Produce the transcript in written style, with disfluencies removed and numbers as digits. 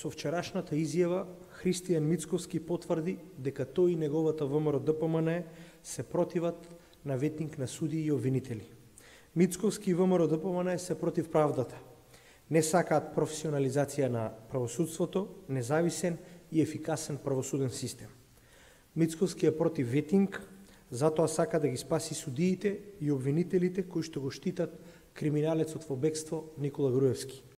Со вчерашната изјава, Христијан Мицковски потврди дека тој и неговата ВМРО-ДПМНЕ се противат на ветник на суди и обвинители. Мицковски и ВМРО-ДПМНЕ се против правдата. Не сакаат професионализација на правосудството, независен и ефикасен правосуден систем. Мицковски е против ветинг, затоа сака да ги спаси судиите и обвинителите кои што го штитат криминалецот во бегство Никола Груевски.